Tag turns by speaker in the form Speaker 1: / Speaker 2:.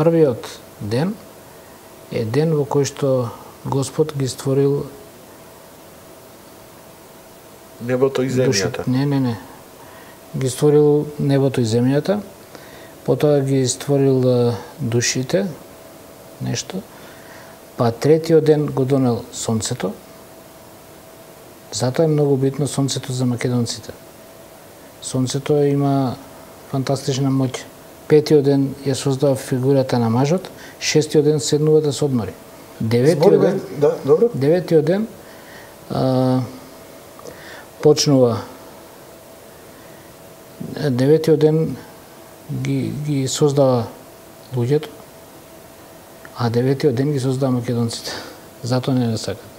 Speaker 1: првиот ден е ден во кој што Господ ги створил
Speaker 2: небото и земјата.
Speaker 1: Не. Ги створил небото и земјата, потоа ги створил душите, нешто, па третиот ден го донел сонцето. Затоа е многу битно сонцето за македонците. Сонцето има фантастична моќ. Петиот ден ја создава фигурата на мажот, шестиот ден седнува да се одмори. Деветиот ден почнува. Деветиот ден ги создава луѓето, а деветиот ден ги создава македонците. Затоа не сакат.